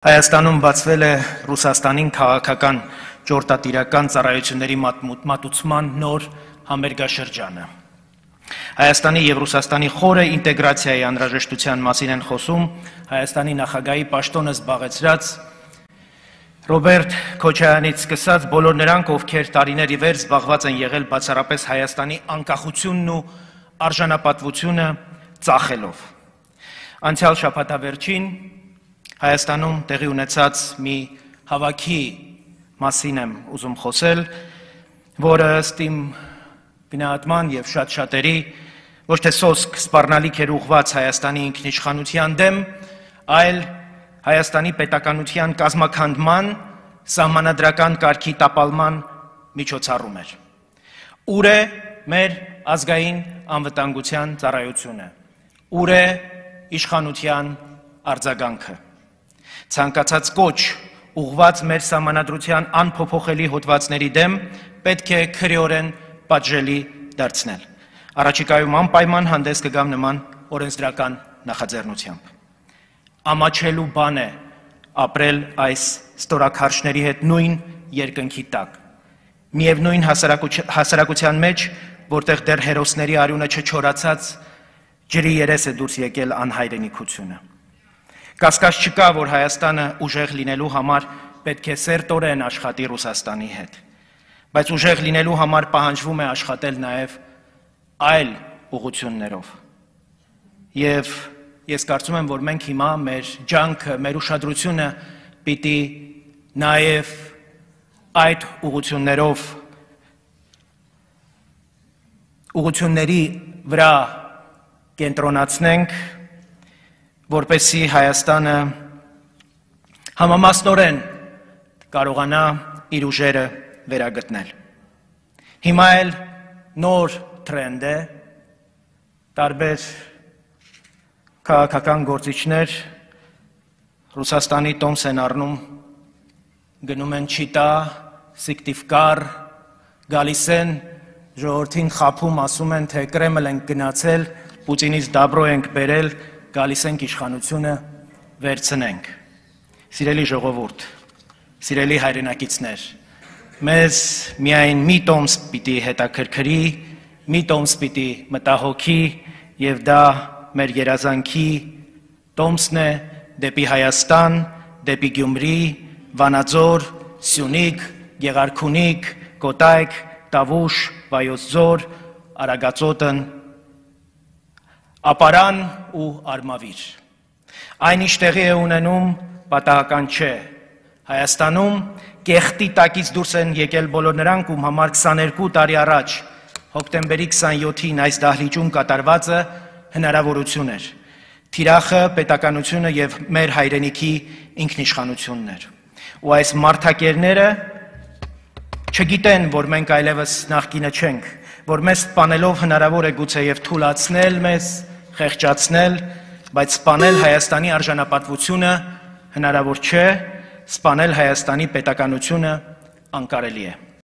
Հայաստանում բացվել է Ռուսաստանին քաղաքական ճորտատիրական ծառայությունների մատուցման նոր համերգաշրջանը։ Հայաստանի եւ Ռուսաստանի խորը ինտեգրացիայի անհրաժեշտության մասին են խոսում Հայաստանի նախագահի պաշտոնը զբաղեցրած Ռոբերտ Քոչարյանից սկսած բոլոր նրանք, ովքեր տարիների վեր զբաղված են եղել բացառապես Հայաստանի անկախությունն ու արժանապատվությունը ծախելով։ Անցյալ շաբաթավերջին Հայաստանում տեղի ունեցած մի հավաքի մասին եմ ուզում խոսել, որը ըստ իմ գնահատման եւ շատ-շատերի ոչ թե սոսկ սպառնալիք էր ուղղված Հայաստանի ինքնիշխանության դեմ, այլ Հայաստանի պետականության կազմաքանդման, սահմանադրական կարգի տապալման միջոցառում էր։ Ուր է մեր ազգային անվտանգության ծառայությունը, ուր է իշխանության արձագանքը։ Ցանկացած կոչ ուղղված մեր սահմանադրության անփոփոխելի հոդվածների դեմ պետք է քրեորեն պատժելի դարձնել։ Առաջիկայում անպայման հանդես կգամ նման օրենսդրական նախաձեռնությամբ։ Ամաչելու բան է ապրել այս ստորաքարշների հետ նույն երկնքի տակ։ Միևնույն հասարակության մեջ, որտեղ դեռ հերոսների արյունը չչորացած ջրի երես է դուրս եկել անհայրենիքությունը։ Կասկած չկա, որ Հայաստանը ուժեղ լինելու համար պետք է սերտորեն աշխատի Ռուսաստանի հետ, բայց ուժեղ լինելու համար պահանջվում է աշխատել նաև այլ ուղղություններով։ Եվ ես կարծում եմ, որ մենք հիմա մեր ջանքը, մեր ուշադրությունը պիտի նաև այդ ուղղությունների վրա կենտրոնացնենք, որպեսզի Հայաստանը համամասնորեն կարողանա իր ուժերը վերագտնել։ Հիմա էլ նոր թրենդ է, տարբեր քաղաքական գործիչներ Ռուսաստանի տոմս են առնում, գնում են Չիտա, Սիկտիվկար, գալիս են, ժողովրդին խաբում, ասում են, թե Կրեմլ ենք գնացել, Պուտինից դաբրո ենք բերել, գալիս ենք իշխանությունը վերցնենք։ Սիրելի ժողովուրդ, սիրելի հայրենակիցներ, մեզ միայն մի տոմս պիտի հետաքրքրի, մի տոմս պիտի մտահոգի, եւ դա մեր երազանքի տոմսն է դեպի Հայաստան, դեպի Գյումրի, Վանաձոր, Սյունիք, Գեղարքունիք, Կոտայք, Տավուշ, Վայոց ձոր, Արագածոտն, Ապարան ու Արմավիր։ Այն ինչ տեղի է ունենում պատահական չէ։ Հայաստանում կեղտի տակից դուրս են եկել բոլոր նրանք, ում համար 22 տարի առաջ հոկտեմբերի 27-ին այս դահլիճում կատարվածը հնարավորություն էր։ Թիրախը, պետականությունը եւ մեր հայրենիքի ինքնիշխանությունն էր։ Ու այս մարդակերները չգիտեն, որ մենք այլևս նախկինը չենք, որ մեզ սպանելով հնարավոր է գուցե եւ թուլացնել մեզ, խեղճացնել, բայց սպանել Հայաստանի արժանապատվությունը հնարավոր չէ, սպանել Հայաստանի պետականությունը անկարելի է։